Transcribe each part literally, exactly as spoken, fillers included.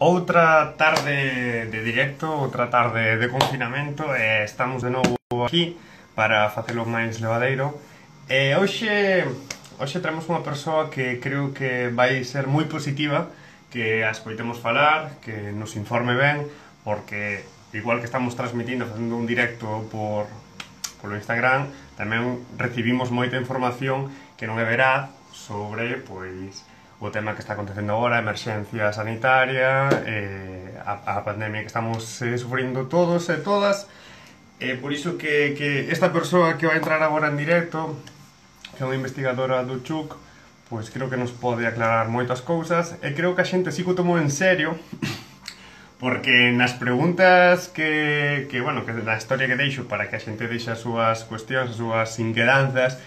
Outra tarde de directo, outra tarde de confinamento e estamos de novo aquí para facelo máis levadeiro. E hoxe, hoxe traemos unha persoa que creo que vai ser moi positiva, que a escoitemos falar, que nos informe ben, porque igual que estamos transmitindo, facendo un directo por, polo Instagram, tamén recibimos moita información que non é veraz sobre, pois, o tema que está acontecendo agora, a emerxencia sanitaria, eh, a, a pandemia que estamos eh, sufrindo todos e todas. Eh, por iso que, que esta persoa que vai entrar agora en directo, que é unha investigadora do CHUC, pois creo que nos pode aclarar moitas cousas, e creo que a xente sí que o tomou en serio, porque nas preguntas que, que bueno, que na historia que deixo para que a xente deixe as súas cuestións, as súas inquedanzas,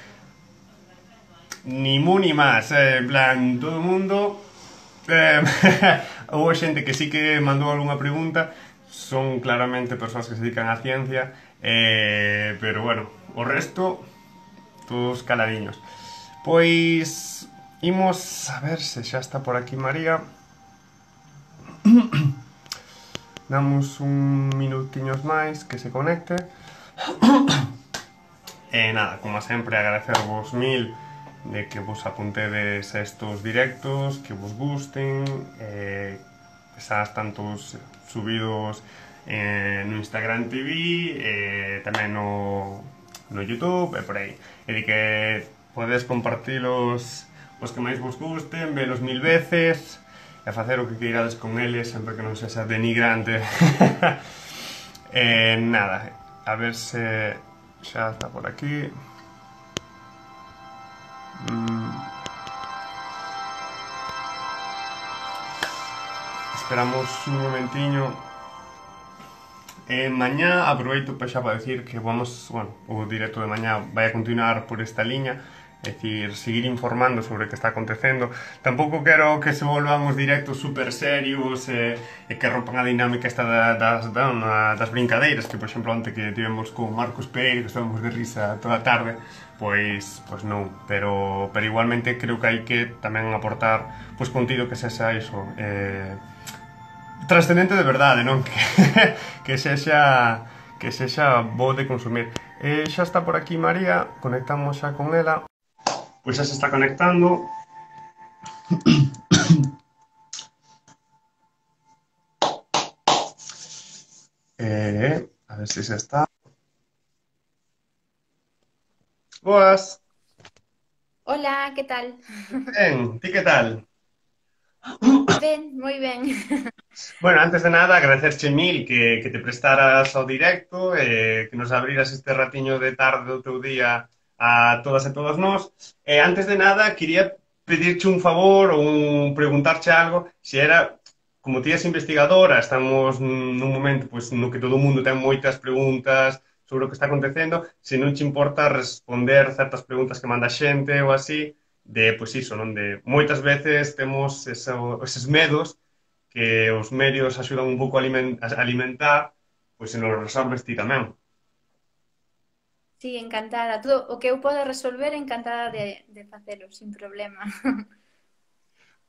ni mu ni más, eh, en plan, todo o mundo eh, houve xente que sí que mandou algunha pregunta, son claramente persoas que se dedican á ciencia, eh, pero bueno, o resto todos caladiños. Pois imos a ver se xa está por aquí María. Damos un minutiños máis que se conecte. E nada, como sempre, agradecervos mil de que vos apuntedes a estos directos, que vos gusten, eh, esas tantos subidos eh, no Instagram T V, eh, tamén no, no YouTube e por aí. E de que podedes compartilos os que máis vos gusten, velos mil veces e facer o que queirades con eles, sempre que non sexa denigrante. eh, nada, a ver se xa está por aquí. Mm. Esperamos un momentiño. Eh, mañá aproveito xa para decir que vamos, bueno, o directo de mañá vai a continuar por esta liña, é dicir, seguir informando sobre o que está acontecendo. Tampouco quero que se volvan os directos super serios e, e que rompan a dinámica esta da, das, da, das brincadeiras, que por exemplo onte que tivemos con Marcos Pereira, que estábamos de risa toda a tarde, pois, pois non, pero, pero igualmente creo que hai que tamén aportar pois contido que sexa iso, eh, trascendente de verdade, non? Que, que sexa que sexa bo de consumir. Eh, xa está por aquí María, conectamos xa con ela. Pois xa se está conectando. Eh, a ver se xa está. Boas. Hola, que tal? Ben, ti que tal? Ben, moi ben. Bueno, antes de nada, agradecerche mil que, que te prestaras ao directo, eh, que nos abriras este ratiño de tarde do teu día a todas e todos nós. Eh, antes de nada, quería pedirche un favor ou un, preguntarche algo, se era, como ti és investigadora, estamos nun momento pois, no que todo o mundo ten moitas preguntas sobre o que está acontecendo, se non te importa responder certas preguntas que manda a xente ou así, de, pois iso, non? De moitas veces temos eso, eses medos que os medios axudan un pouco a alimentar, pois se nos resolves ti tamén. Sí, encantada. Todo o que eu poda resolver, encantada de, de facelo, sin problema.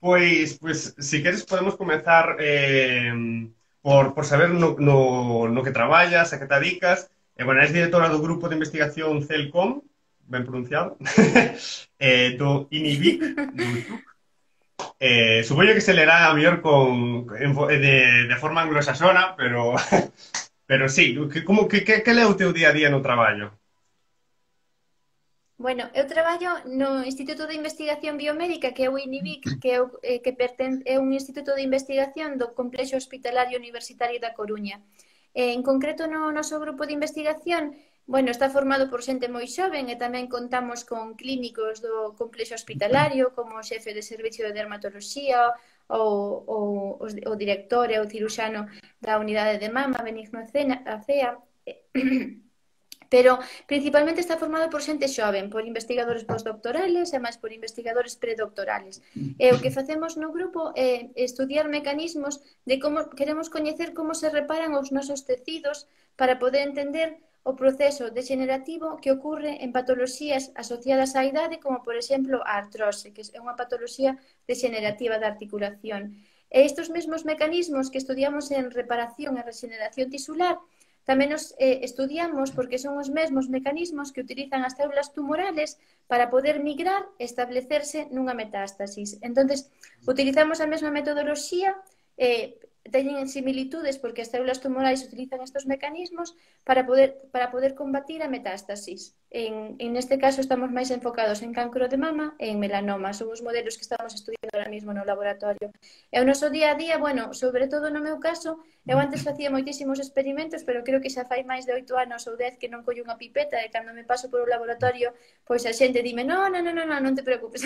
Pois, pois, se queres podemos comezar eh, por, por saber no, no, no que traballas, a que te dedicas. Eh, bueno, és directora do grupo de investigación CELCOM, ben pronunciado, eh, do INIVIC, do CHUC. Eh, supoño que se lerá a mellor con, de, de forma anglosaxona, pero, pero sí, que, como, que, que, que é o teu día a día no traballo? Bueno, eu traballo no Instituto de Investigación Biomédica, que é o INIVIC, que é, o, eh, que perten, é un instituto de investigación do Complexo Hospitalario Universitario da Coruña. Eh, en concreto, no noso grupo de investigación, bueno, está formado por xente moi xoven e tamén contamos con clínicos do complexo hospitalario, como o xefe de servicio de dermatoloxía, ou, ou o director e o ciruxano da unidade de mama, Benigno Acea. Pero principalmente está formado por xente xoven, por investigadores postdoctorales e máis por investigadores predoctorales. E o que facemos no grupo é estudiar mecanismos de como queremos coñecer como se reparan os nosos tecidos para poder entender o proceso degenerativo que ocorre en patoloxías asociadas á idade, como por exemplo a artrose, que é unha patoloxía degenerativa da articulación. E estes mesmos mecanismos que estudiamos en reparación e regeneración tisular tamén nos eh, estudiamos porque son os mesmos mecanismos que utilizan as células tumorales para poder migrar e establecerse nunha metástasis. Entonces, utilizamos a mesma metodoloxía, eh, teñen similitudes porque as células tumorais utilizan estes mecanismos para poder, para poder combatir a metástasis. En, en este caso estamos máis enfocados en cancro de mama e en melanoma. Son os modelos que estamos estudiando ahora mesmo no laboratorio. E o noso día a día, bueno, sobre todo no meu caso, eu antes facía moitísimos experimentos, pero creo que xa fai máis de oito anos ou dez que non collo unha pipeta e cando me paso por o laboratorio, pois a xente dime, no, no, no, no, no, non te preocupes.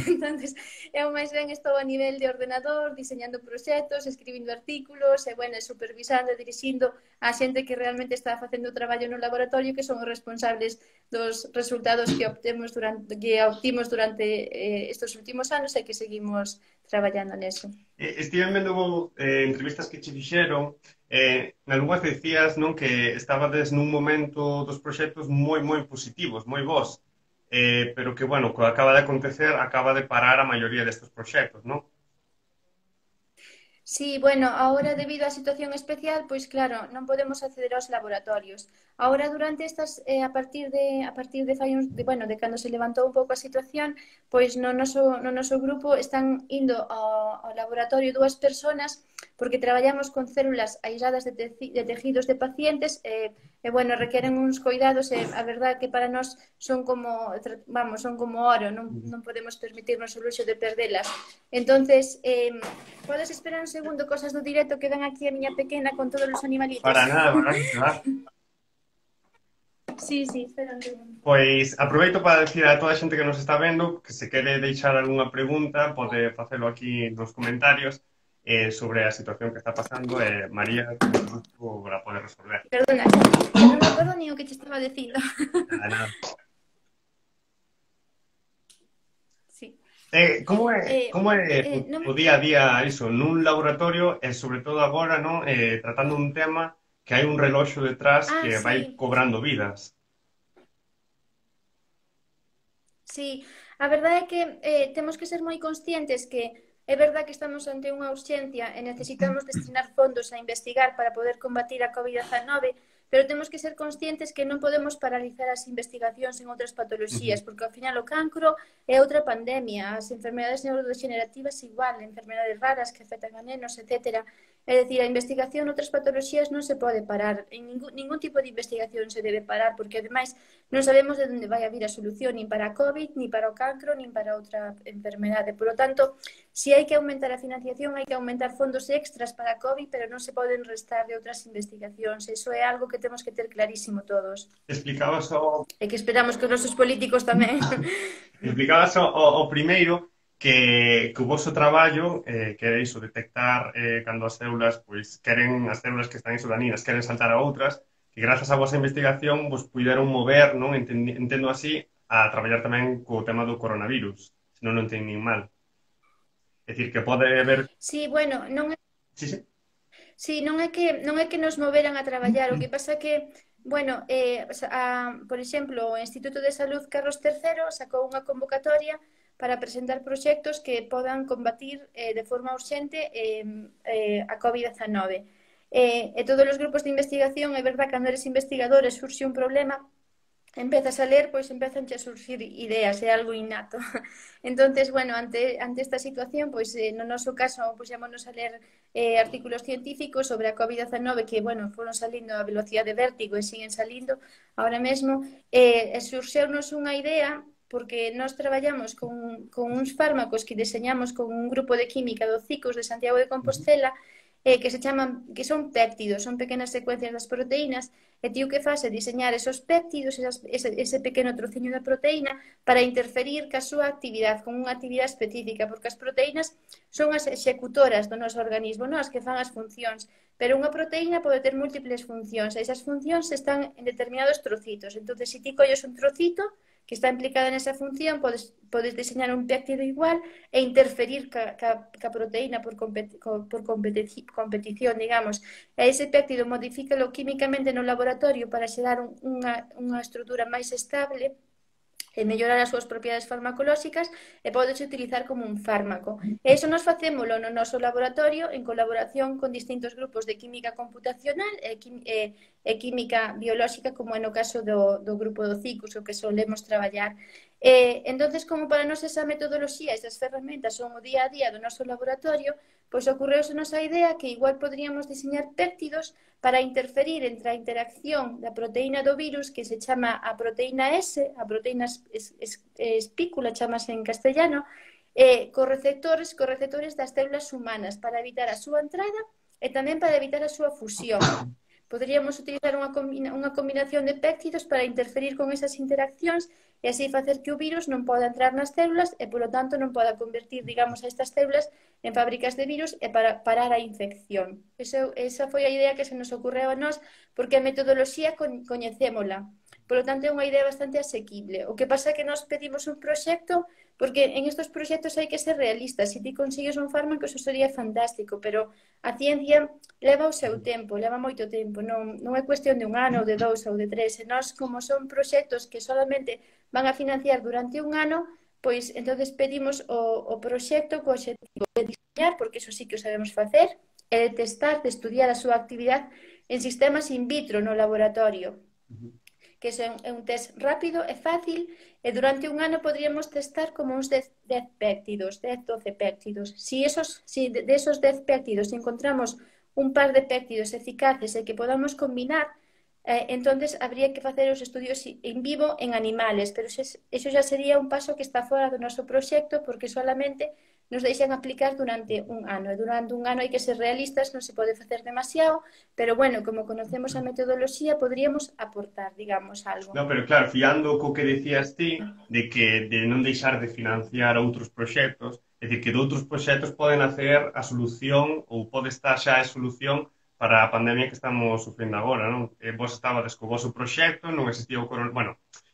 Entonces, eu máis ben estou a nivel de ordenador, diseñando proxectos, escribindo artículos, e, bueno, supervisando e dirixindo a xente que realmente está facendo o traballo no laboratorio, que son os responsables dos resultados que obtemos durante, que obtimos durante eh, estes últimos anos e que seguimos traballando neso. Eh, Estive vendo eh, entrevistas que che fixeron, eh, nalgúnas decías, non, que estabades nun momento dos proxectos moi, moi positivos, moi bons, eh, pero que, bueno, co que acaba de acontecer, acaba de parar a maioría destes proxectos, non? Sí, bueno, ahora debido á situación especial, pois claro, non podemos acceder aos laboratorios. Ahora durante estas eh, a partir de a partir de fai uns, de, bueno, de cando se levantou un pouco a situación, pois no noso no noso grupo están indo ao, ao laboratorio dúas persoas porque traballamos con células aisladas de, te, de tejidos de pacientes e, e bueno, requeren uns cuidados e a verdade que para nós son como, vamos, son como oro, non, non podemos permitirnos o luxo de perdelas. Entonces, eh, podes esperar un segundo, cosas do directo que ven aquí a miña pequena con todos os animalitos. Para nada, para nada. Sí, sí, espera un segundo. Pois aproveito para decir a toda a xente que nos está vendo que se quere deixar algunha pregunta pode facelo aquí nos comentarios eh, sobre a situación que está pasando e eh, María para poder resolver. Perdona, non me acordo ni o que te estaba dicindo. Nada, nada. Sí. Eh, como é, Eh, como é eh, non o me- día a día iso nun laboratorio e sobre todo agora, non, eh, tratando un tema que hai un reloxo detrás Ah, que vai sí. cobrando vidas. Sí, a verdade é que eh, temos que ser moi conscientes que é verdade que estamos ante unha urxencia e necesitamos destinar fondos a investigar para poder combatir a COVID diecinueve, pero temos que ser conscientes que non podemos paralizar as investigacións en outras patoloxías, porque ao final o cancro é outra pandemia, as enfermedades neurodegenerativas igual, enfermedades raras que afectan a nenos, etcétera. É dicir, a investigación en outras patoloxías non se pode parar, en ningún, ningún tipo de investigación se debe parar, porque ademais non sabemos de onde vai a vir a solución, nin para a COVID, nin para o cancro, nin para outra enfermedade. Por lo tanto, si hai que aumentar a financiación, hai que aumentar fondos extras para a COVID, pero non se poden restar de outras investigacións. Eso é algo que temos que ter clarísimo todos. Explicabas o, E que esperamos que os nosos políticos tamén. explicabas o, o primeiro que, que o vosso traballo eh, que é iso, detectar eh, cando as células pois, queren, as células que están isodaninas queren saltar a outras, que grazas á vosa investigación vos puideron mover, non, Entendi, entendo así, a traballar tamén co tema do coronavirus, se non non entendín mal. É dicir, que pode haber... Sí, bueno, non é Sí, sí. Sí, non é que non é que nos moveran a traballar, o que pasa que, bueno, eh, a, por exemplo, o Instituto de Salud Carlos terceiro sacou unha convocatoria para presentar proxectos que podan combatir eh, de forma urxente eh, eh, a COVID diecinueve. Eh, e todos os grupos de investigación, é verdad, cando eres investigador e surxe un problema, empezas a ler, pois empezan a surgir ideas, é algo innato. Entonces, bueno, ante, ante esta situación, pois eh, no noso caso, puxémonos a ler eh, artículos científicos sobre a COVID diecinueve que, bueno, foron salindo a velocidade de vértigo e siguen salindo ahora mesmo, eh, e surxeunos unha idea porque nós traballamos con, con uns fármacos que deseñamos con un grupo de química do CICOS de Santiago de Compostela, eh, que se chaman, que son péptidos, son pequenas secuencias das proteínas, e ti o que faz é diseñar esos péptidos, esas, ese, ese pequeno trociño da proteína, para interferir ca súa actividade, con unha actividade específica, porque as proteínas son as executoras do noso organismo, non as que fan as funcións, pero unha proteína pode ter múltiples funcións, e esas funcións están en determinados trocitos. Entón, se ti colles un trocito que está implicada nesa función, podes, podes diseñar un péptido igual e interferir ca, ca, ca proteína por, competi, por competi, competición, digamos. E ese péptido modifícalo químicamente no laboratorio para xerar un, unha, unha estrutura máis estable e mellorar as súas propiedades farmacolóxicas e pódese utilizar como un fármaco. E iso nos facémolo no noso laboratorio en colaboración con distintos grupos de química computacional e, e, e química biolóxica, como é no caso do, do grupo do CICUS, o que solemos traballar. Eh, entonces, como para nós esa metodoloxía, esas ferramentas son o día a día do noso laboratorio, pois ocorreuse nosa idea que igual poderíamos diseñar péptidos para interferir entre a interacción da proteína do virus, que se chama a proteína S, a proteína es, es, espícula, chamase en castellano, eh, co receptores, co receptores das células humanas para evitar a súa entrada e tamén para evitar a súa fusión. Poderíamos utilizar unha, combina, unha combinación de péptidos para interferir con esas interaccións e así facer que o virus non poda entrar nas células e, polo tanto, non poda convertir, digamos, a estas células en fábricas de virus e para parar a infección. Eso, esa foi a idea que se nos ocorreu a nós, porque a metodoloxía coñecémola. Polo tanto, é unha idea bastante asequible. O que pasa é que nós pedimos un proxecto, porque en estes proxectos hai que ser realistas. Se ti consigues un fármaco, eso sería fantástico, pero a ciencia leva o seu tempo, leva moito tempo. Non, non é cuestión de un ano, ou de dous, ou de tres. E nós, como son proxectos que solamente van a financiar durante un ano, pois entonces pedimos o, o proxecto co objetivo de diseñar, porque eso sí que o sabemos facer, e de testar, de estudiar a súa actividade en sistemas in vitro no laboratorio. Que é un, é un test rápido e fácil, e durante un ano podríamos testar como uns dez péptidos, dez, doce péptidos. Si, esos, si de esos dez péptidos encontramos un par de péptidos eficaces e que podamos combinar, eh, entonces habría que facer os estudios en vivo en animales, pero eso, eso ya sería un paso que está fora do noso proxecto, porque solamente nos deixan aplicar durante un ano. E durante un ano hai que ser realistas, non se pode facer demasiado, pero bueno, como conocemos a metodoloxía, poderíamos aportar, digamos, algo. No, pero claro, fiando co que decías ti, de que de non deixar de financiar outros proxectos, é dicir, que de outros proxectos poden hacer a solución, ou pode estar xa a solución para a pandemia que estamos sufrindo agora, non? E vos estabades co vosso proxecto, non existía o coronavirus, bueno,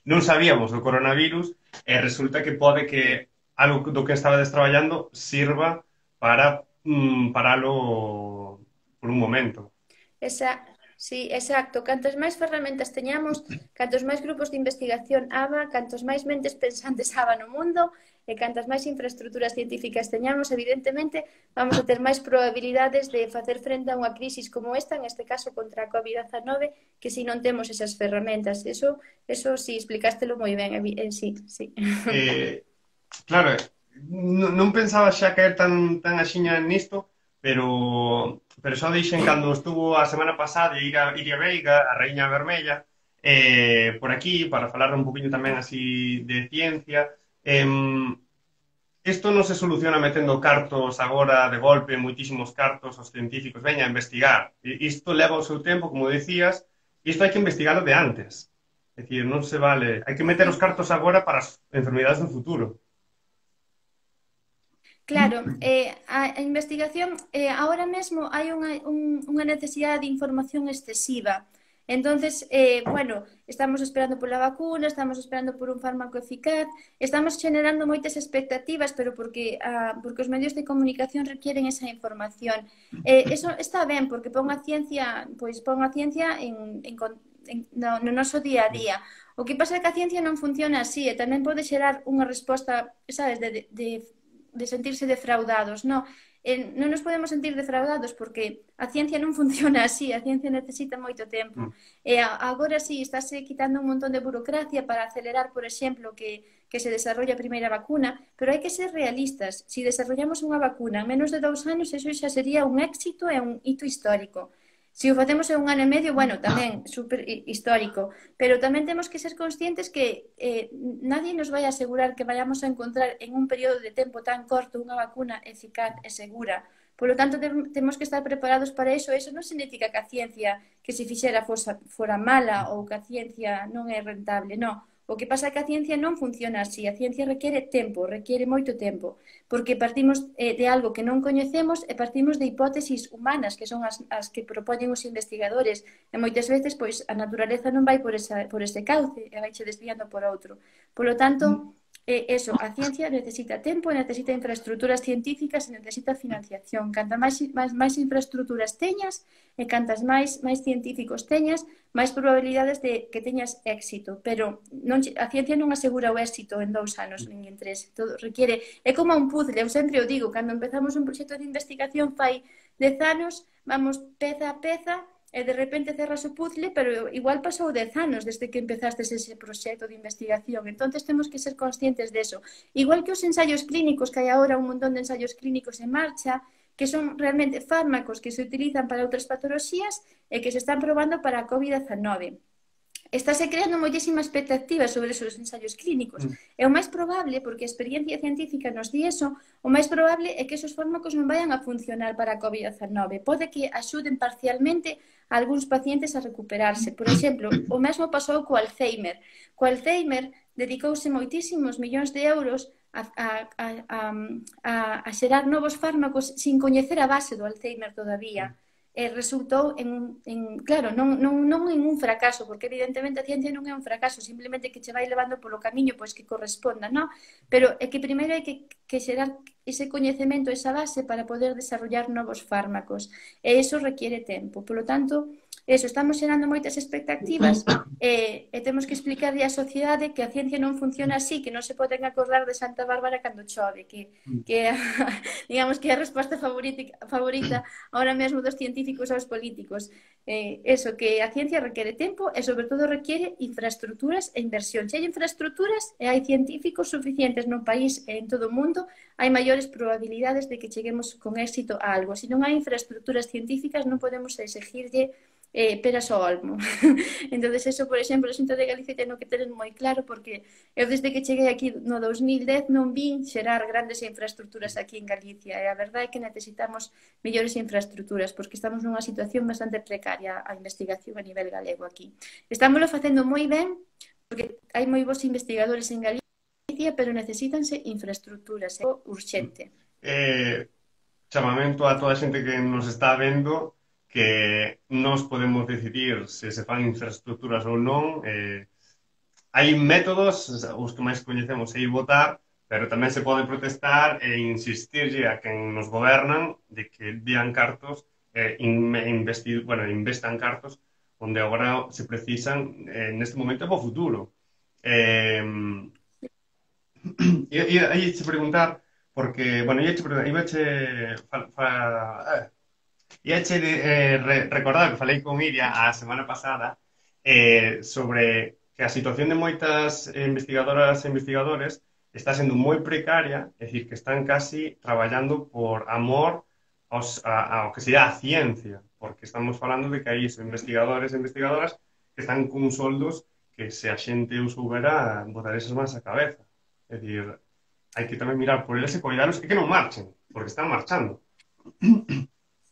non sabíamos do coronavirus, e resulta que pode que algo do que estabades traballando sirva para mm, paralo por un momento. Esa, sí, exacto. Cantas máis ferramentas teñamos, cantos máis grupos de investigación haga, cantos máis mentes pensantes haga no mundo, e cantas máis infraestructuras científicas teñamos, evidentemente, vamos a ter máis probabilidades de facer frente a unha crisis como esta, en este caso contra a COVID diecinueve, que si non temos esas ferramentas. Eso, eso sí, explicástelo moi ben, eh, sí, sí. Eh... Claro, non pensaba xa caer tan, tan axiña nisto, pero, pero só dixen cando estuvo a semana pasada Iria, Iria Veiga, a Raíña Vermella, eh, por aquí, para falar un poquinho tamén así de ciencia. Eh, isto non se soluciona metendo cartos agora de golpe, moitísimos cartos aos científicos, veña a investigar. Isto leva o seu tempo, como decías, e isto hai que investigarlo de antes. É dicir, non se vale... Hai que meter os cartos agora para as enfermidades do futuro. Claro, eh, a, a investigación, eh, ahora mesmo hai unha, un, unha necesidade de información excesiva. Entonces, eh, bueno, estamos esperando pola vacuna, estamos esperando por un fármaco eficaz, estamos generando moitas expectativas, pero porque, ah, porque os medios de comunicación requieren esa información. Eh, eso está ben, porque pon a ciencia, pois pon a ciencia en, en, en, no, no noso día a día. O que pasa é que a ciencia non funciona así, e tamén pode xerar unha resposta, sabes, de, de, de de sentirse defraudados, no, eh, non nos podemos sentir defraudados porque a ciencia non funciona así, a ciencia necesita moito tempo. Mm. E agora sí, estáse quitando un montón de burocracia para acelerar, por exemplo, que, que se desarrolle a primeira vacuna, pero hai que ser realistas. Si desarrollamos unha vacuna en menos de dous anos, eso xa sería un éxito e un hito histórico. Se o facemos en un ano e medio, bueno, tamén super histórico, pero tamén temos que ser conscientes que eh, nadie nos vai a asegurar que vayamos a encontrar en un período de tempo tan corto unha vacuna eficaz e segura. Por lo tanto, temos que estar preparados para iso. Eso non significa que a ciencia que se fixera fosa, fora mala ou que a ciencia non é rentable, non. O que pasa é que a ciencia non funciona así. A ciencia requiere tempo, requiere moito tempo, porque partimos eh, de algo que non coñecemos e partimos de hipótesis humanas, que son as, as que propoñen os investigadores. E moitas veces, pois, a naturaleza non vai por, esa, por ese cauce e vai che desviando por outro. Por lo tanto, eh, eso, a ciencia necesita tempo, necesita infraestructuras científicas e necesita financiación. Canta máis, máis, máis infraestructuras teñas e cantas máis, máis científicos teñas, máis probabilidades de que teñas éxito. Pero non, a ciencia non asegura o éxito en dous anos, nin en tres. Todo requiere, é como un puzzle, eu sempre o digo, cando empezamos un proxecto de investigación fai dez anos, vamos peza a peza, e de repente cerras o puzzle, pero igual pasou dez anos desde que empezastes ese proxecto de investigación. Entonces temos que ser conscientes de eso. Igual que os ensaios clínicos, que hai agora un montón de ensaios clínicos en marcha, que son realmente fármacos que se utilizan para outras patoloxías e que se están probando para a COVID diecinueve. Estáse creando moitísima expectativa sobre esos ensaios clínicos. É o máis probable, porque a experiencia científica nos di eso, o máis probable é que esos fármacos non vayan a funcionar para a COVID diecinueve. Pode que axuden parcialmente a algúns pacientes a recuperarse. Por exemplo, o mesmo pasou co Alzheimer. Co Alzheimer dedicouse moitísimos millóns de euros a, a, a, a, a xerar novos fármacos sin coñecer a base do Alzheimer todavía. E resultou en, en claro, non, non, non en un fracaso, porque evidentemente a ciencia non é un fracaso, simplemente que che vai levando polo camiño pois que corresponda, non? Pero é que primeiro hai que, que xerar ese coñecemento, esa base para poder desarrollar novos fármacos, e iso requiere tempo. Polo tanto, eso, estamos xerando moitas expectativas e, e temos que explicarle á sociedade que a ciencia non funciona así, que non se poden acordar de Santa Bárbara cando chove, que, que a, digamos que é a resposta favorita, favorita ahora mesmo dos científicos aos políticos. Eh, eso, que a ciencia requiere tempo e sobre todo requiere infraestructuras e inversión. Se hai infraestructuras e hai científicos suficientes no país e en todo o mundo, hai maiores probabilidades de que cheguemos con éxito a algo. Se non hai infraestructuras científicas non podemos exigirlle eh, peras ao olmo. Entón, eso, por exemplo, a Xunta de Galicia ten que ter moi claro, porque eu desde que cheguei aquí no dos mil dez non vin xerar grandes infraestructuras aquí en Galicia, e a verdade é que necesitamos mellores infraestructuras, porque estamos nunha situación bastante precaria a investigación a nivel galego aquí. Estámoslo facendo moi ben, porque hai moi bons investigadores en Galicia, pero necesítanse infraestructuras, é urxente. Eh, chamamento a toda a xente que nos está vendo, que nós podemos decidir se se fan infraestructuras ou non. Eh, hai métodos, os que máis coñecemos é ir votar, pero tamén se pode protestar e insistirlle a quen nos gobernan de que dían cartos, eh, investir, bueno, investan cartos onde agora se precisan eh, neste momento e para o futuro. Eh, e aí che preguntar, porque, bueno, ia che preguntar, iba che fa, fa, eh, ia che eh, re, recordar que falei con Iria a semana pasada eh, sobre que a situación de moitas investigadoras e investigadores está sendo moi precaria, é dicir, que están casi traballando por amor aos, a, ao que sería a ciencia, porque estamos falando de que hai investigadores e investigadoras que están con soldos que se a xente os soubera botar esas mans a cabeza. É dicir, hai que tamén mirar por eles e coidaros e que non marchen, porque están marchando.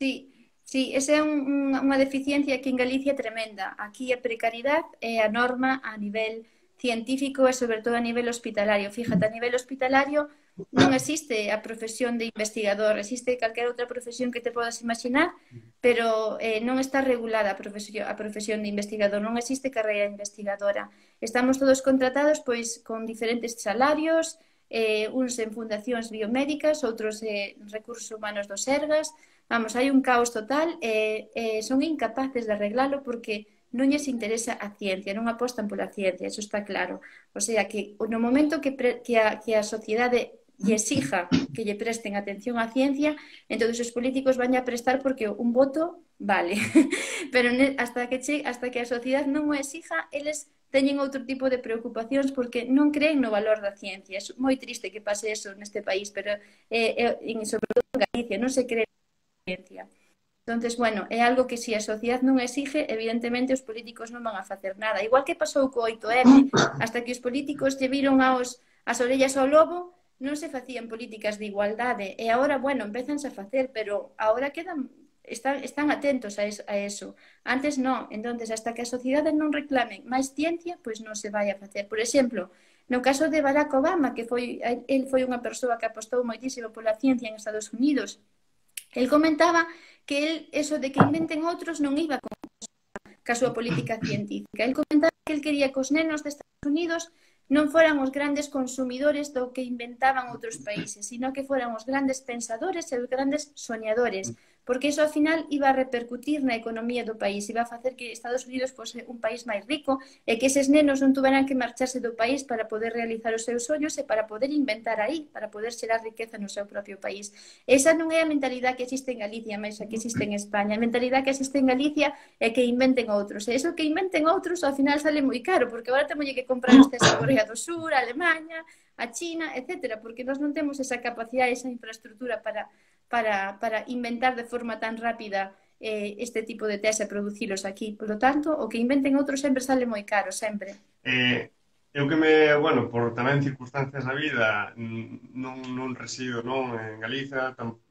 Sí. Sí, esa é un, unha deficiencia aquí en Galicia tremenda. Aquí a precariedade é a norma a nivel científico e sobre todo a nivel hospitalario. Fíjate, a nivel hospitalario non existe a profesión de investigador, existe calquera outra profesión que te podas imaginar, pero eh, non está regulada a profesión, a profesión de investigador, non existe carreira investigadora. Estamos todos contratados pois con diferentes salarios, eh, uns en fundacións biomédicas, outros en eh, recursos humanos do Sergas. Vamos, hai un caos total e eh, eh, son incapaces de arreglalo porque non lles interesa a ciencia, non apostan pola ciencia, eso está claro. O sea, que no momento que, pre, que, a, que a sociedade lle exija que lle presten atención á ciencia, entón os políticos van a prestar porque un voto vale. Pero hasta que, che, hasta que a sociedade non o exija, eles teñen outro tipo de preocupacións porque non creen no valor da ciencia. É moi triste que pase eso neste país, pero eh, eh, sobre todo en Galicia non se cree ciencia. Entonces, bueno, é algo que se a sociedade non exige, evidentemente os políticos non van a facer nada. Igual que pasou co oito eme, hasta que os políticos lle viron aos, as orellas ao lobo, non se facían políticas de igualdade. E agora, bueno, empezanse a facer, pero agora quedan, están, están atentos a eso, a eso. Antes non. Entonces, hasta que a sociedade non reclame máis ciencia, pois non se vai a facer. Por exemplo, no caso de Barack Obama, que foi, el foi unha persoa que apostou moitísimo pola ciencia en Estados Unidos, el comentaba que el, eso de que inventen outros non iba con a súa política científica. El comentaba que el quería que os nenos de Estados Unidos non foran os grandes consumidores do que inventaban outros países, sino que foran os grandes pensadores e os grandes soñadores, porque iso ao final iba a repercutir na economía do país, iba a facer que Estados Unidos fose un país máis rico e que eses nenos non tuveran que marcharse do país para poder realizar os seus sonhos e para poder inventar aí, para poder xerar riqueza no seu propio país. Esa non é a mentalidade que existe en Galicia, máis a que existe en España. A mentalidade que existe en Galicia é que inventen outros. E iso que inventen outros ao final sale moi caro, porque agora temos que comprar os testes a Corea do Sur, a Alemanha, a China, etcétera, porque nós non temos esa capacidade, esa infraestructura para, para, para inventar de forma tan rápida eh, este tipo de test e producilos aquí. Por lo tanto, o que inventen outros sempre sale moi caro, sempre. Eh, eu que me, bueno, por tamén circunstancias da vida, non, non resido non en Galiza, tam,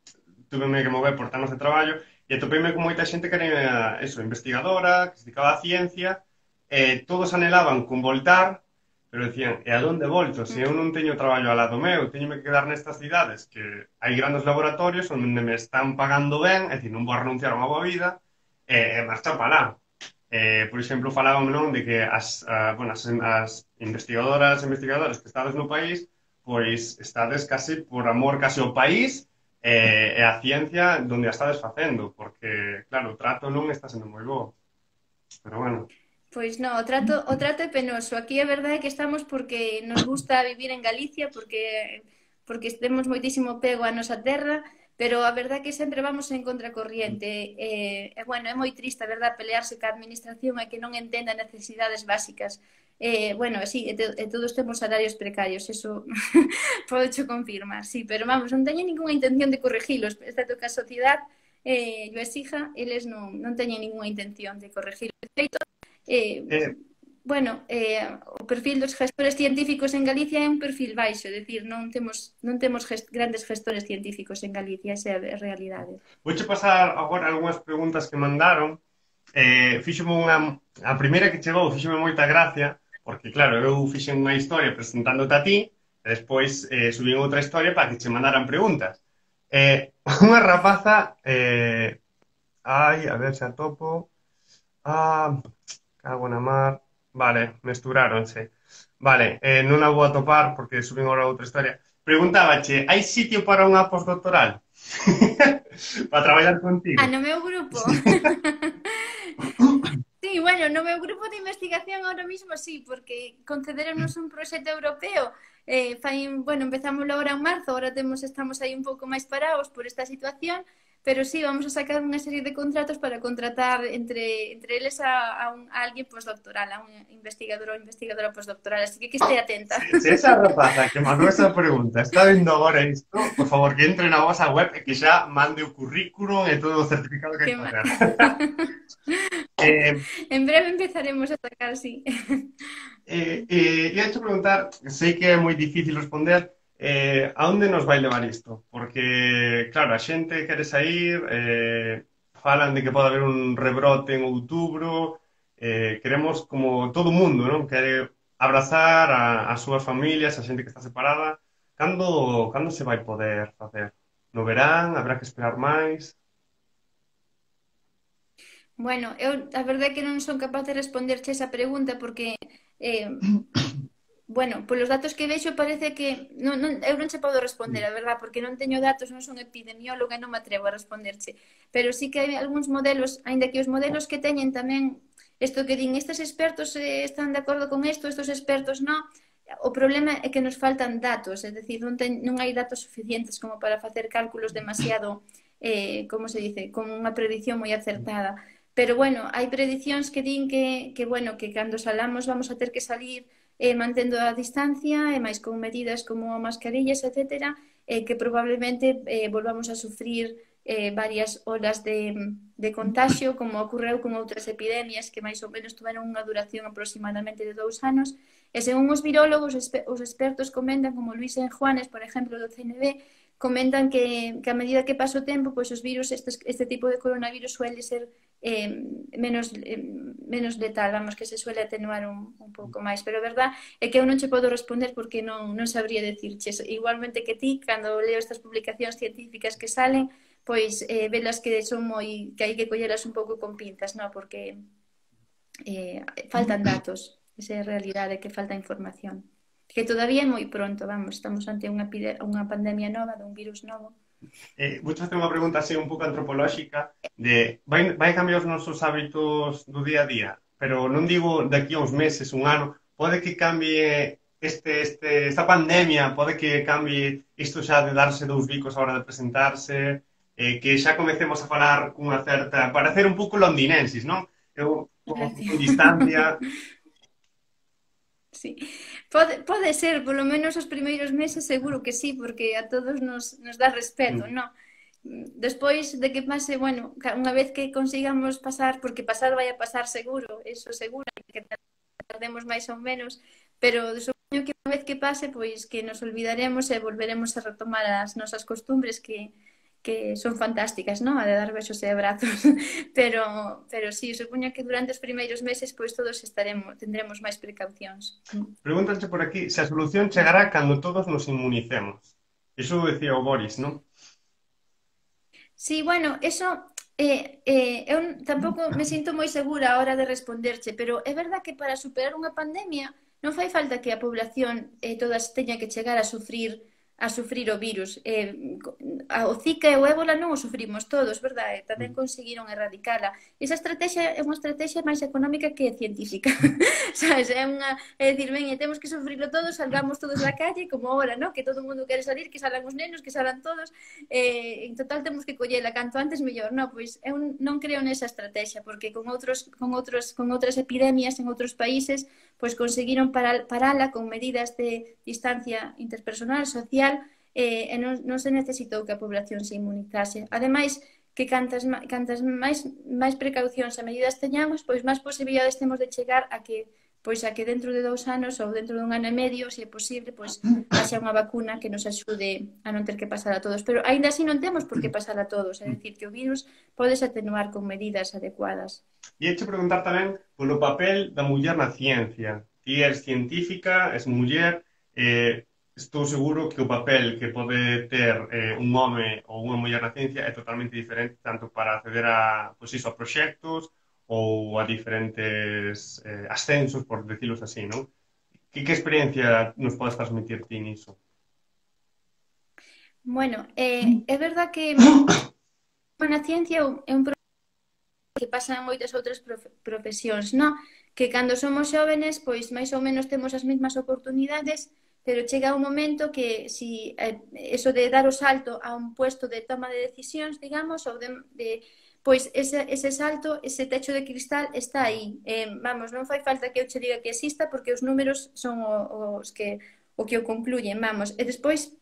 tuveme que mover por temas de traballo, e atopeime con moita xente que era eso, investigadora, que se dedicaba a ciencia, e todos anhelaban con voltar, pero decían, e a donde volto? Se eu non teño traballo ao lado meu, teño que quedar nestas cidades, que hai grandes laboratorios onde me están pagando ben, é dicir, non vou a renunciar a unha boa vida, e marchar para lá. Eh, por exemplo, falábame non de que as, a, bueno, as, as investigadoras e investigadores que estades no país, pois estades casi por amor casi ao país e, e a ciencia donde a estades facendo, porque, claro, o trato non está sendo moi bo. Pero bueno... Pois non, o trato, o trato é penoso. Aquí a verdade é que estamos porque nos gusta vivir en Galicia, porque porque temos moitísimo pego á nosa terra, pero a verdade é que sempre vamos en contracorriente. E, e bueno, é moi triste, a verdade, pelearse ca administración e que non entenda necesidades básicas. Eh, bueno, sí, e, te, e todos temos salarios precarios, eso podo cho confirmar, sí, pero vamos, non teño ninguna intención de corregilos, excepto que a sociedade eh, yo exija, eles non, non teñen ninguna intención de corregir. De feito, Eh, eh, bueno, eh, o perfil dos gestores científicos en Galicia é un perfil baixo, é dicir, non temos, non temos gest grandes gestores científicos en Galicia, esa é a realidade. Vouche pasar agora algunhas preguntas que mandaron. Eh, fíxome unha... A primeira que chegou fíxome moita gracia, porque, claro, eu fixen unha historia presentándote a ti, e despois eh, subín outra historia para que che mandaran preguntas. Eh, unha rapaza... Eh, ai, a ver se a topo... Ah... Cago na mar... Vale, mesturáronse. Vale, eh, non a vou atopar porque subín agora outra historia. Preguntábache, hai sitio para unha postdoctoral? Para traballar contigo? Ah, no meu grupo? Sí, bueno, no meu grupo de investigación ahora mismo sí, porque concederenos un proxecto europeo. Eh, fai, bueno, empezamos agora en marzo, agora temos, estamos aí un pouco máis parados por esta situación, pero sí, vamos a sacar unha serie de contratos para contratar entre, entre eles a, a, un, a alguén postdoctoral, a un investigador ou investigadora postdoctoral, así que que este atenta. Se, se esa rapaza que mandou esa pregunta está vendo agora isto, por favor, que entre na vosa web e que xa mande o currículum e todo o certificado que hai que facer. eh, en breve empezaremos a sacar, sí. Eh, eh, ia te preguntar, sei que é moi difícil responder, Eh, a onde nos vai levar isto? Porque, claro, a xente quere sair, eh, falan de que pode haber un rebrote en outubro, eh, queremos como todo o mundo, non? Quere abrazar a, as súas familias, a xente que está separada. Cando, cando se vai poder facer? No verán? Habrá que esperar máis? Bueno, eu a verdade é que non son capaz de responderche esa pregunta porque... Eh, Bueno, polos datos que vexo parece que non, non, eu non che podo responder, a verdad, porque non teño datos, non son epidemióloga e non me atrevo a responderche. Pero sí que hai algúns modelos, aínda que os modelos que teñen tamén, isto que din, estes expertos eh, están de acordo con isto, estes expertos non, o problema é que nos faltan datos, é dicir, non, ten, non hai datos suficientes como para facer cálculos demasiado, eh, como se dice, con unha predicción moi acertada. Pero bueno, hai predicións que din que, que, bueno, que cando salamos vamos a ter que salir eh, mantendo a distancia e máis con medidas como mascarillas, etcétera, eh, que probablemente eh, volvamos a sufrir eh, varias olas de, de contagio, como ocorreu con outras epidemias que máis ou menos tuveron unha duración aproximadamente de dous anos. E según os virólogos, os expertos comentan, como Luis Enjuanes, por exemplo, do C N V, comentan que, que a medida que pasa o tempo, pois os virus, este, este tipo de coronavirus suele ser eh, menos, eh, menos letal, vamos, que se suele atenuar un, un pouco máis. Pero a verdad é que eu non che podo responder porque non, non sabría decirches. Igualmente que ti, cando leo estas publicacións científicas que salen, pois eh, velas que son moi, que hai que colleras un pouco con pinzas, non? Porque eh, faltan datos, esa é a realidade, que falta información. que todavía é moi pronto, vamos, estamos ante unha, unha pandemia nova, dun virus novo. Eh, vou facer unha pregunta así un pouco antropolóxica de vai, vai cambiar os nosos hábitos do día a día, pero non digo de aquí a uns meses, un ano, pode que cambie este, este, esta pandemia, pode que cambie isto xa de darse dous bicos a hora de presentarse, eh, que xa comecemos a falar cunha certa, parecer un pouco londinensis, non? Eu, con, con distancia. Sí, pode, pode ser, polo menos os primeiros meses seguro que sí, porque a todos nos, nos dá respeto, Mm. non? Despois de que pase, bueno, unha vez que consigamos pasar, porque pasar vai a pasar seguro, eso seguro, que tardemos máis ou menos, pero supoño que unha vez que pase, pois que nos olvidaremos e volveremos a retomar as nosas costumbres que, que son fantásticas, non? A de dar besos e abrazos, pero, pero sí, supoño que durante os primeiros meses pois todos estaremos, tendremos máis precaucións. Pregúntanse por aquí se a solución chegará cando todos nos inmunicemos. Iso decía o Boris, non? Sí, bueno, eso eh, eh, eu tampouco me sinto moi segura a hora de responderche, pero é verdad que para superar unha pandemia non fai falta que a población eh, todas teña que chegar a sufrir a sufrir o virus. Eh, o Zika e o ébola non o sufrimos todos, verdade? Tamén conseguiron erradicala. Esa estrategia é unha estrategia máis económica que científica. Sabes? É unha, é dicir, ben, temos que sufrirlo todos, salgamos todos da calle, como ahora, ¿no? Que todo o mundo quere salir, que salan os nenos, que salan todos. Eh, en total temos que collela canto antes mellor. No, pois eu non creo nesa estrategia, porque con outros con outros con outras epidemias en outros países, pois conseguiron parar, parala con medidas de distancia interpersonal, social, eh, e non, non se necesitou que a población se inmunizase. Ademais, que cantas, cantas máis, máis precaucións e medidas teñamos, pois máis posibilidades temos de chegar a que pois a que dentro de dous anos ou dentro dun ano e medio, se é posible, pois haxa unha vacuna que nos axude a non ter que pasar a todos. Pero aínda así non temos por que pasar a todos, é dicir, que o virus podes atenuar con medidas adecuadas. E hecho preguntar tamén polo papel da muller na ciencia. Ti és científica, és muller, eh, estou seguro que o papel que pode ter eh, un home ou unha muller na ciencia é totalmente diferente tanto para acceder a, pois iso, a proxectos ou a diferentes eh, ascensos, por decilos así, non? Que, que experiencia nos podes transmitir ti niso? Bueno, eh, é verdad que na ciencia é un problema que pasa en moitas outras profesións, non? Que cando somos xóvenes, pois máis ou menos temos as mesmas oportunidades, pero chega un momento que si eh, eso de dar o salto a un puesto de toma de decisións, digamos, ou de, de pois ese, ese salto, ese techo de cristal está aí. Eh, vamos, non fai falta que eu che diga que exista porque os números son os que o que o concluyen, vamos. E despois,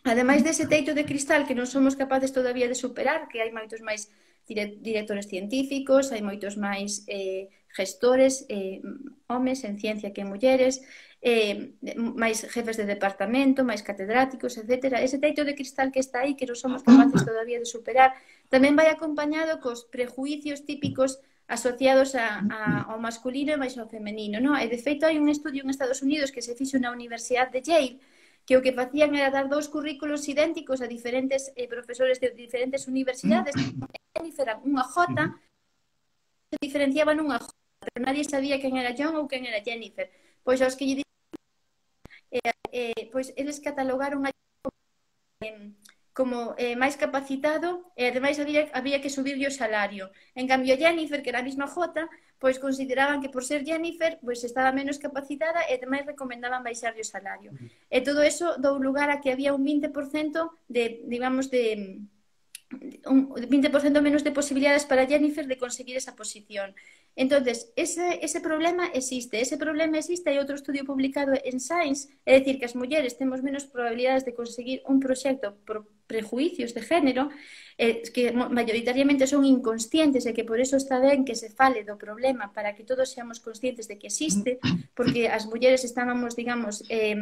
ademais dese teito de cristal que non somos capaces todavía de superar, que hai moitos máis directores científicos, hai moitos máis eh, gestores, eh, homes en ciencia que mulleres, eh, máis jefes de departamento, máis catedráticos, etcétera. Ese teito de cristal que está aí, que non somos capaces todavía de superar, tamén vai acompañado cos prejuicios típicos asociados a, a, ao masculino e máis ao femenino, non? E de feito hai un estudio en Estados Unidos que se fixo na Universidade de Yale que o que facían era dar dous currículos idénticos a diferentes eh, profesores de diferentes universidades, eran unha J, se diferenciaban unha J, pero nadie sabía quen era John ou quen era Jennifer. Pois aos que lle eh, eh, pois eles catalogaron a eh, como eh, máis capacitado e ademais había, había que subirlle o salario. En cambio, Jennifer, que era a mesma J, pois consideraban que por ser Jennifer pois estaba menos capacitada e ademais recomendaban baixarlle o salario. E todo eso dou lugar a que había un vinte por cento de, digamos, de un vinte por cento menos de posibilidades para Jennifer de conseguir esa posición. Entonces, ese, ese problema existe. Ese problema existe. Hai outro estudio publicado en Science, é dicir, que as mulleres temos menos probabilidades de conseguir un proxecto por prejuicios de género, eh, que mayoritariamente son inconscientes e que por eso está ben que se fale do problema para que todos seamos conscientes de que existe, porque as mulleres estábamos, digamos, eh,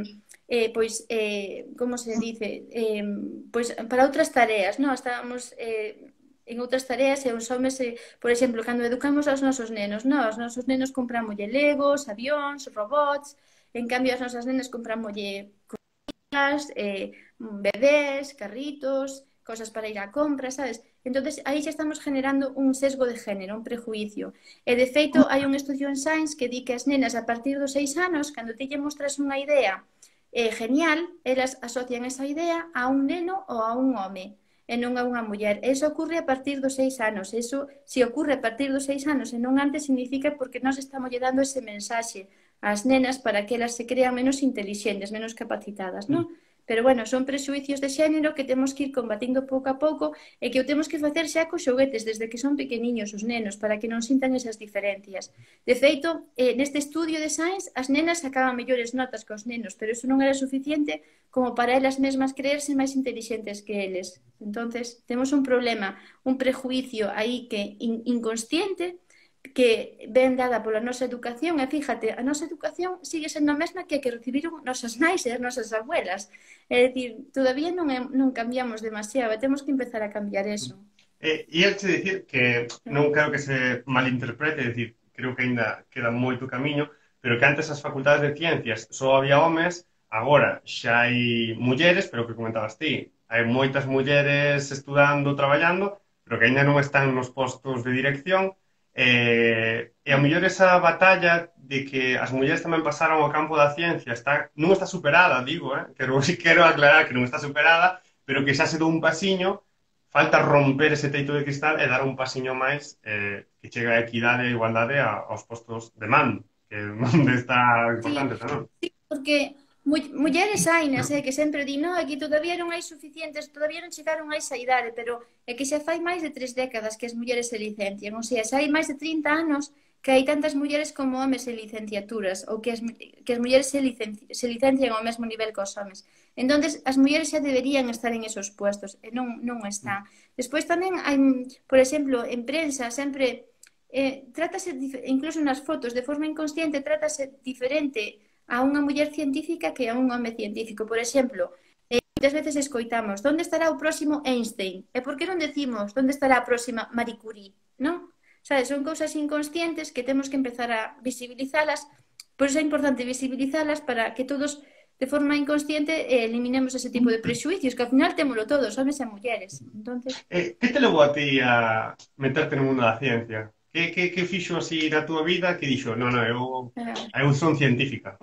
eh, pois, eh, como se dice, eh, pois para outras tareas, non? Estábamos eh, en outras tareas e os homes, eh, por exemplo, cando educamos aos nosos nenos, non? Os nosos nenos comprámoslle legos, avións, robots, en cambio as nosas nenas comprámoslle cosillas, eh, bebés, carritos, cosas para ir á compra, sabes? Entonces aí xa estamos generando un sesgo de género, un prejuicio. E de feito hai un estudio en Science que di que as nenas a partir dos seis anos, cando ti lle mostras unha idea eh, genial, elas asocian esa idea a un neno ou a un home e non a unha muller. Eso ocurre a partir dos seis anos. Eso, se ocurre a partir dos seis anos e non antes, significa porque nós estamos lle dando ese mensaxe ás nenas para que elas se crean menos intelixentes, menos capacitadas, non? Pero, bueno, son prexuicios de xénero que temos que ir combatindo pouco a pouco e que o temos que facer xa cos xoguetes desde que son pequeniños os nenos para que non sintan esas diferencias. De feito, eh, neste estudio de Science, as nenas sacaban mellores notas que os nenos, pero iso non era suficiente como para elas mesmas creerse máis intelixentes que eles. Entonces, temos un problema, un prejuicio aí que in inconsciente que ven dada pola nosa educación, e fíjate, a nosa educación sigue sendo a mesma que a que recibiron nosas nais e as nosas abuelas. É dicir, todavía non, é, non cambiamos demasiado, e temos que empezar a cambiar eso. E, e eu te dicir que non quero que se malinterprete, é dicir, creo que ainda queda moito camiño, pero que antes as facultades de ciencias só había homes, agora xa hai mulleres, pero que comentabas ti, hai moitas mulleres estudando, traballando, pero que ainda non están nos postos de dirección. Eh, e a mellor esa batalla de que as mulleres tamén pasaron ao campo da ciencia está, non está superada, digo, eh? quero, quero aclarar que non está superada, pero que xa se dou un pasiño, falta romper ese teito de cristal e dar un pasiño máis eh, que chega a equidade e igualdade a, aos postos de mando, que é onde está importante, Sí, non? sí, porque mulleres hainas, eh, que sempre di, no, aquí todavía non hai suficientes, todavía non chegaron a esa idade, pero é que xa fai máis de tres décadas que as mulleres se licencian, ou sea, xa hai máis de trinta anos que hai tantas mulleres como homes en licenciaturas, ou que as, que as mulleres se, licenci, se licencian ao mesmo nivel que os homes. Entonces, as mulleres xa deberían estar en esos puestos, e non, non están. Despois tamén hai, por exemplo, en prensa, sempre, eh, trátase, incluso nas fotos, de forma inconsciente, trátase diferente a unha muller científica que a un home científico. Por exemplo, eh, moitas veces escoitamos onde estará o próximo Einstein? E por que non decimos onde estará a próxima Marie Curie? Non? Sabes, son cousas inconscientes que temos que empezar a visibilizalas. Por iso é importante visibilizalas para que todos, de forma inconsciente, eh, eliminemos ese tipo de prexuicios, que ao final témolo todos, homes e mulleres. Entonces... Eh, que te levou a ti a meterte no mundo da ciencia? Que, que, que fixo así na túa vida que dixo, non, non, eu, eu son científica?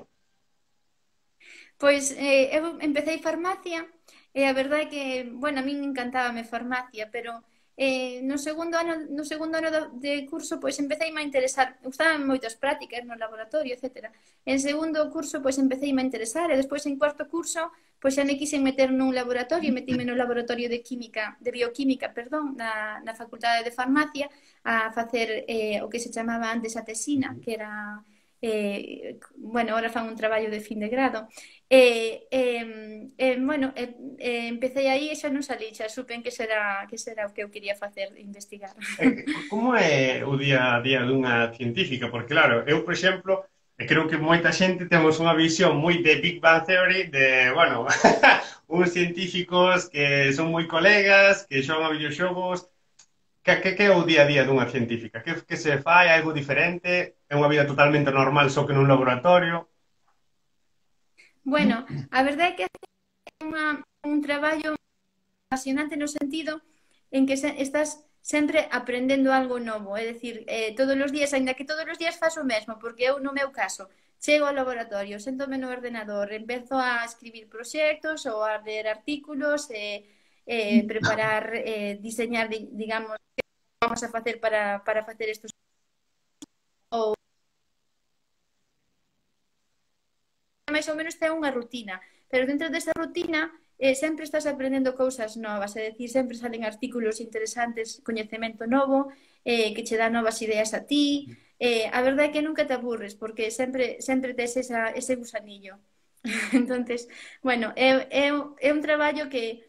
Pois eh, eu empecé farmacia e a verdade é que, bueno, a min encantábame farmacia, pero eh, no segundo ano no segundo ano de curso pois empecé a interesar, gustaban moitas prácticas no laboratorio, etcétera. En segundo curso pois empecé a interesar e despois en cuarto curso pois xa me quixen meter nun laboratorio, e metime no laboratorio de química, de bioquímica, perdón, na, na Facultade de Farmacia a facer eh, o que se chamaba antes a tesina, que era eh, bueno, ahora fan un traballo de fin de grado. E, eh, eh, bueno, eh, eh, empecé aí e xa non salí, xa supen que será, que será o que eu quería facer, investigar. Eh, como é o día a día dunha científica? Porque, claro, eu, por exemplo, e creo que moita xente temos unha visión moi de Big Bang Theory, de, bueno, uns científicos que son moi colegas, que xogan a videoxogos. Que, que, que é o día a día dunha científica? Que, que se fai? Algo diferente? É unha vida totalmente normal, só que nun laboratorio? Bueno, a verdade é que é unha, un traballo apasionante no sentido en que se, estás sempre aprendendo algo novo, é dicir, eh, todos os días, ainda que todos os días faço o mesmo, porque eu, no meu caso, chego ao laboratorio, sentome no ordenador, empezo a escribir proxectos ou a ler artículos, e eh, preparar, eh, diseñar, digamos, que vamos a facer para, para facer estos ou máis ou menos ten unha rutina, pero dentro desa rutina eh, sempre estás aprendendo cousas novas, é dicir, sempre salen artículos interesantes, coñecemento novo, eh, que che dá novas ideas a ti, eh, a verdade é que nunca te aburres, porque sempre sempre tes esa, ese gusanillo. Entonces, bueno, é, é, é un traballo que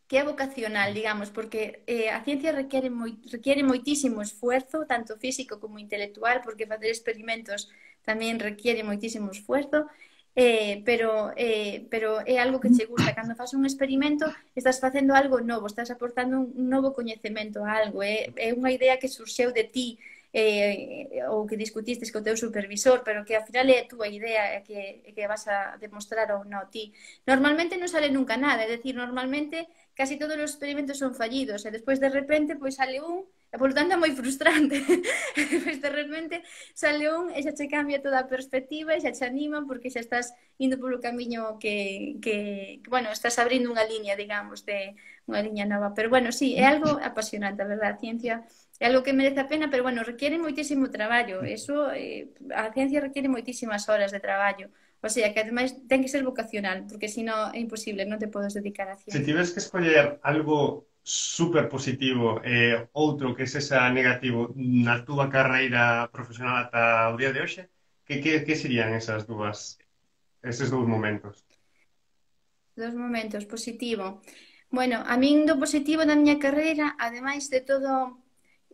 que é vocacional, digamos, porque eh, a ciencia requiere, moi, requiere moitísimo esfuerzo, tanto físico como intelectual, porque facer experimentos tamén requiere moitísimo esfuerzo, eh, pero, eh, pero é algo que che gusta. Cando faz un experimento, estás facendo algo novo, estás aportando un novo coñecemento a algo, é, é unha idea que surxeu de ti, eh, ou que discutistes co teu supervisor, pero que ao final é a túa idea que, que vas a demostrar ou non ti. Normalmente non sale nunca nada, é dicir, normalmente casi todos os experimentos son fallidos, e despois de repente pois sale un, e polo tanto é moi frustrante. Despois de repente sale un e xa che cambia toda a perspectiva e xa te anima porque xa estás indo polo camiño que, que, que bueno, estás abrindo unha liña, digamos, de unha liña nova. Pero bueno, sí, é algo apasionante, a verdade, a ciencia é algo que merece a pena, pero bueno, requiere moitísimo traballo. Eso, eh, a ciencia requiere moitísimas horas de traballo. O sea, que ademais ten que ser vocacional, porque senón é imposible, non te podes dedicar á Se ciencia. tiveres que escoller algo super positivo e outro que sexa negativo na túa carreira profesional ata o día de hoxe, que, que, que serían esas dúas, eses dous momentos? Dos momentos, positivo. Bueno, a min do positivo da miña carreira, ademais de todo,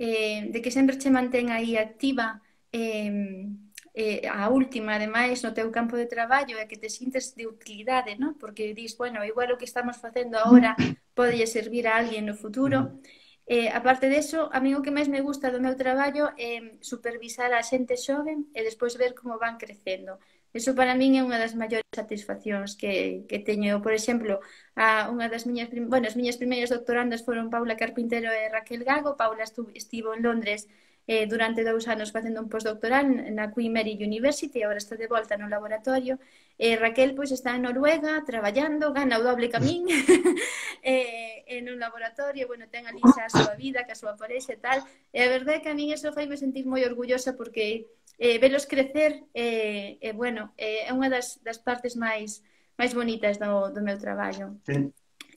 eh, de que sempre che mantén aí activa, eh, eh, a última, ademais, no teu campo de traballo, é que te sintes de utilidade, ¿no? Porque dis, bueno, igual o que estamos facendo agora pode servir a alguén no futuro. Eh, aparte deso, a mí o que máis me gusta do meu traballo é supervisar a xente xoven e despois ver como van crecendo. Eso para min é unha das maiores satisfaccións que, que teño. Por exemplo, a unha das miñas, bueno, as miñas primeiras doctorandas foron Paula Carpintero e Raquel Gago. Paula estuvo, estivo en Londres eh, durante dous anos facendo un postdoctoral na Queen Mary University, e agora está de volta no laboratorio. E Raquel pois está en Noruega traballando, gana o doble camín e, en un laboratorio, bueno, ten ali xa a súa vida, que a súa parexa e tal, e a verdade é que a min eso faime sentir moi orgullosa porque eh, velos crecer e, eh, eh, bueno, eh, é unha das, das partes máis máis bonitas do, do meu traballo. Sí.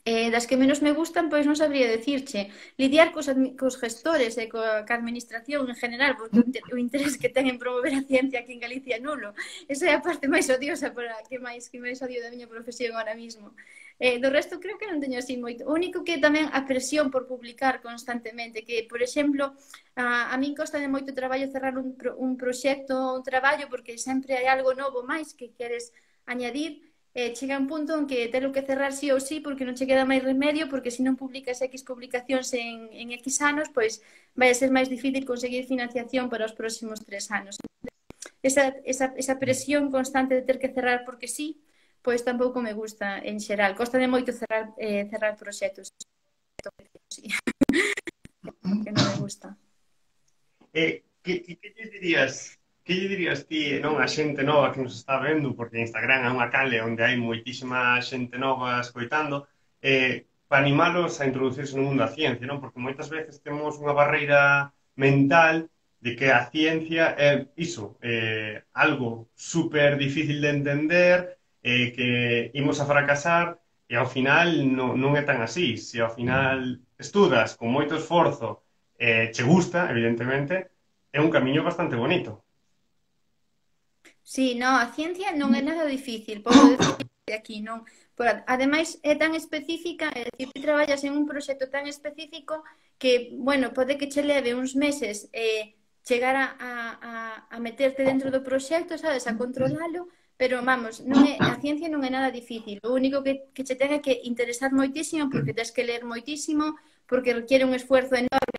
Eh, das que menos me gustan, pois non sabría decirche. Lidiar cos, cos gestores e coa, coa administración en general, porque o interés que ten en promover a ciencia aquí en Galicia é nulo. Esa é a parte máis odiosa para que máis que máis odio da miña profesión ahora mismo. Eh, do resto creo que non teño así moito. O único que tamén a presión por publicar constantemente, que, por exemplo, a, a min costa de moito traballo cerrar un, un proxecto, un traballo, porque sempre hai algo novo máis que queres añadir. Eh, chega un punto en que telo que cerrar sí ou sí porque non che queda máis remedio, porque se non publicas X publicacións en, en X anos, pois vai a ser máis difícil conseguir financiación para os próximos tres anos. Esa, esa, esa presión constante de ter que cerrar porque sí, pois tampouco me gusta en xeral. Costa de moito cerrar, eh, cerrar proxectos. Sí. Que non me gusta. Eh, que, que, que lle dirías... Que lle dirías ti, non, a xente nova que nos está vendo, porque Instagram é unha canle onde hai moitísima xente nova escoitando, eh, para animalos a introducirse no mundo da ciencia, non? Porque moitas veces temos unha barreira mental de que a ciencia é iso, eh, algo super difícil de entender, eh, que imos a fracasar, e ao final non, non é tan así. Se ao final estudas con moito esforzo, eh, che gusta, evidentemente, é un camiño bastante bonito. Sí, no, a ciencia non é nada difícil, podo decir aquí, non. Por, ademais, é tan específica, é dicir, ti traballas en un proxecto tan específico que, bueno, pode que che leve uns meses eh, chegar a, a, a meterte dentro do proxecto, sabes, a controlalo, pero, vamos, non é, a ciencia non é nada difícil. O único que, que che ten é que interesar moitísimo, porque tens que ler moitísimo, porque requiere un esfuerzo enorme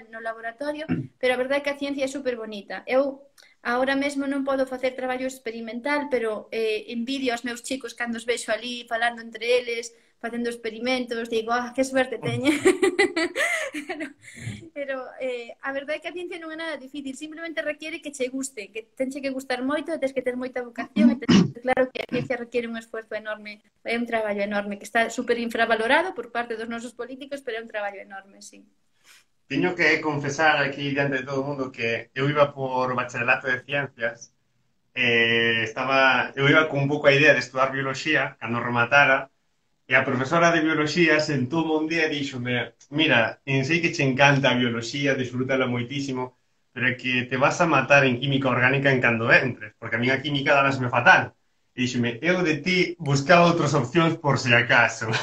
no laboratorio, pero a verdade é que a ciencia é super bonita. Eu agora mesmo non podo facer traballo experimental, pero eh, envidio aos meus chicos cando os vexo ali falando entre eles, facendo experimentos, digo, ah, que suerte teñen. pero pero eh, a verdade é que a ciencia non é nada difícil, simplemente requiere que che guste, que tenche que gustar moito, tens que ter moita vocación, e tens, claro que a ciencia requiere un esforzo enorme, é un traballo enorme, que está super infravalorado por parte dos nosos políticos, pero é un traballo enorme, sí. Teño que confesar aquí diante de todo o mundo que eu iba por bacharelato de ciencias, eh, estaba, eu iba con un pouco a idea de estudar bioloxía cando rematara, e a profesora de bioloxía sentoume un día e díxome, mira, sei que che encanta a bioloxía, disfrútala moitísimo, pero é que te vas a matar en química orgánica en cando entres, porque a mí a química darásme fatal. E díxome, eu de ti buscaba outras opcións por se acaso.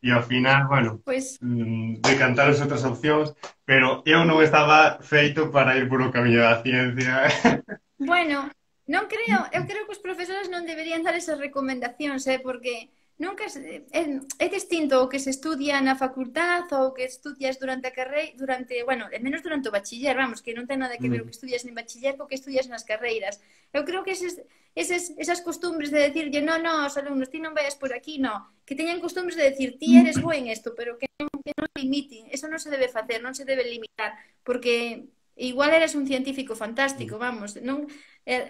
E ao final, bueno, pues decantar as outras opcións, pero eu non estaba feito para ir por o camiño da ciencia. Bueno, non creo, eu creo que os profesores non deberían dar esas recomendacións, eh, porque nunca é, é, é distinto o que se estudia na facultad ou o que estudias durante a carreira, durante, bueno, é menos durante o bachiller, vamos, que non ten nada que ver o Mm. que estudias en bachiller co que estudias nas carreiras. Eu creo que eses, eses, esas costumbres de decirlle, no, no, aos alumnos, ti non vayas por aquí, no, que teñan costumbres de decir, ti eres bo en isto, pero que non, que non limiten, eso non se debe facer, non se debe limitar, porque igual eres un científico fantástico, vamos, non, eh,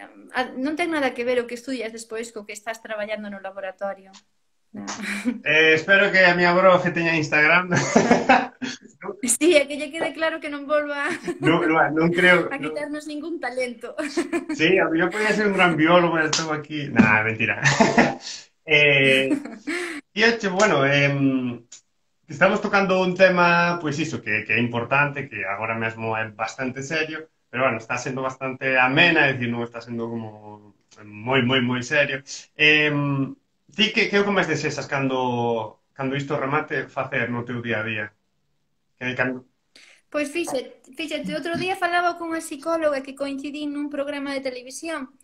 non ten nada que ver o que estudias despois co que estás traballando no laboratorio. No. Eh, espero que a miña brofe teña Instagram. Sí, é que lle quede claro que non volva non, non, non creo... a Non... quitarnos ningún talento. Sí, a mí yo podía ser un gran biólogo, pero estou aquí... Nah, mentira. eh, e, hecho, bueno, eh, estamos tocando un tema, pois pues iso, que, que é importante, que agora mesmo é bastante serio, pero, bueno, está sendo bastante amena, é dicir, non está sendo como moi, moi, moi serio. Eh, ti, que, que é o que máis desexas cando, cando isto remate facer no teu día a día? Que, cando... Pois fíxate, fíxate, outro día falaba con unha psicóloga que coincidín nun programa de televisión.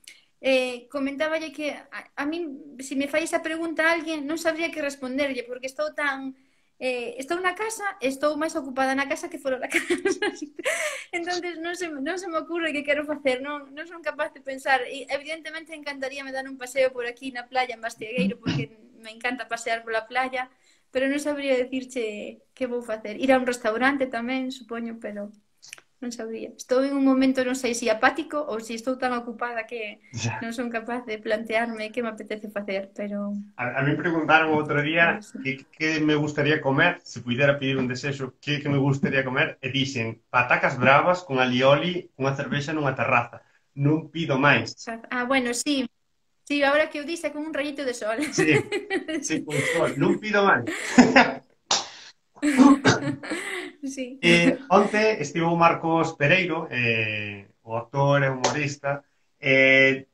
Eh, comentáballe que a, a min, se me fai esa pregunta a alguén, non sabría que responderlle, porque estou tan... Eh, estou na casa, estou máis ocupada na casa que fora da casa. Entonces non se, non se me ocurre que quero facer, non, non son capaz de pensar. E, evidentemente encantaríame dar un paseo por aquí na playa en Bastiegueiro, porque me encanta pasear pola playa, pero non sabría decirche que vou facer. Ir a un restaurante tamén, supoño, pero non sabría. Estou en un momento, non sei se apático ou se estou tan ocupada que non son capaz de plantearme que me apetece facer, pero... A, a mí preguntaron outro día que, que me gustaría comer, se puidera pedir un desexo, que, que me gustaría comer, e dixen patacas bravas con alioli, unha cervexa nunha terraza. Non pido máis. Ah, bueno, sí. Sí, ahora que o dixe con un rayito de sol. Sí, sí, con sol. Non pido máis. Sí. Eh, onte estivo o Marcos Pereiro, eh, o actor e humorista, eh,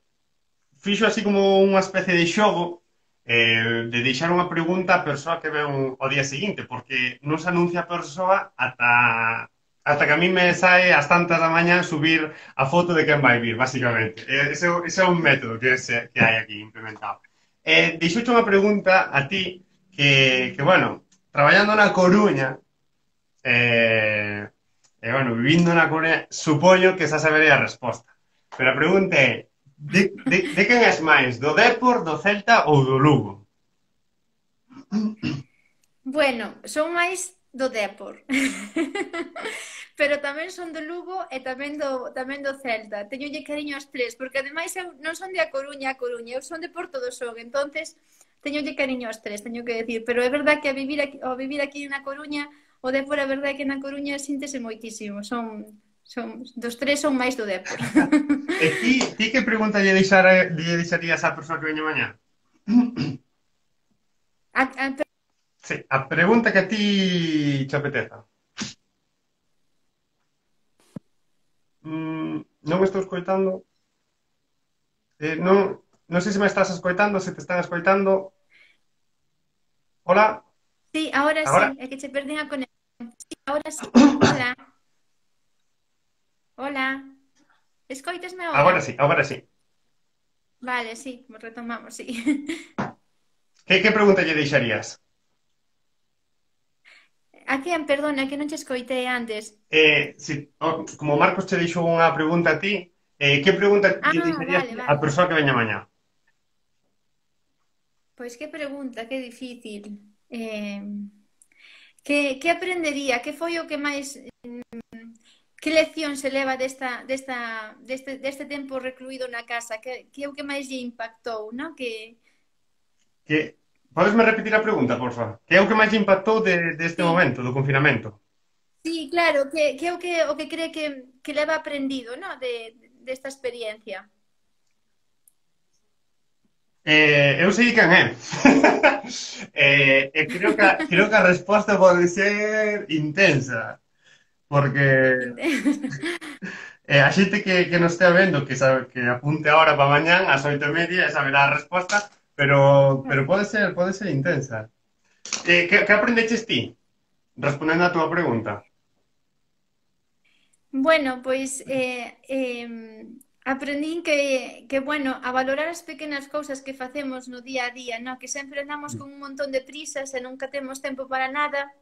fixo así como unha especie de xogo eh, de deixar unha pregunta á persoa que ven o día seguinte, porque non se anuncia a persoa ata, ata que a mí me sae ás tantas da mañá subir a foto de quen vai vir, basicamente. Eh, ese, ese é un método que, se, que hai aquí implementado. Eh, deixouche unha pregunta a ti que, que bueno, traballando na Coruña, eh, e, bueno, vivindo na Coruña, supoño que esa sabería a resposta. Pero a pregunta é, de, de, de quen és máis? Do Dépor, do Celta ou do Lugo? Bueno, son máis do Dépor. Pero tamén son do Lugo e tamén do, tamén do Celta. Teñolle cariño aos tres, porque ademais eu non son de A Coruña a Coruña, eu son de Porto do Son, entonces teñolle cariño aos tres, teño que decir. Pero é verdad que a vivir aquí, ao vivir aquí na Coruña, o Dépor é verdade que na Coruña síntese moitísimo. Son, son, dos tres son máis do Dépor. E ti, ti que pregunta lle, deixar, lle deixarías á persoa que veña mañá? A, a, Sí, a pregunta que a ti te apeteza. Mm, non me estou escoitando. Eh, non, non sei se me estás escoitando, se te están escoitando. Hola? Sí, ahora, Ahora? sí, é que che perdín a conexión. Sí, ahora sí. Hola. Hola. Escoitasme ahora? Agora sí, agora sí. Vale, sí, retomamos, sí. Que, que pregunta lle deixarías? A quen, perdona, que non che escoitei antes. Eh, si, oh, como Marcos te deixou unha pregunta a ti, eh, que pregunta Ah, lle deixarías vale, á vale. persoa que veña mañá? Pois que pregunta, que difícil. Eh, que, que aprendería? Que foi o que máis... Que lección se leva desta, desta, deste, deste tempo recluído na casa? Que, que é o que máis lle impactou, non? Que... Que, podesme repetir a pregunta, por favor? Que é o que máis lle impactou de, de este Sí, momento, do confinamento? sí, claro, que, que é o que, o que cree que, que leva aprendido, non? De, desta experiencia. Eh, eu sei quen é. eh, e creo que, a- creo que a resposta pode ser intensa. Porque eh, a xente que, que nos estea vendo, que sabe que apunte ahora para mañán, ás oito e media, e saberá a resposta, pero, pero pode ser, pode ser intensa. Eh, que, que aprendeches ti? Respondendo a túa pregunta. Bueno, pois eh, eh, aprendín que, que, bueno, a valorar as pequenas cousas que facemos no día a día, no? Que sempre andamos con un montón de prisas e nunca temos tempo para nada.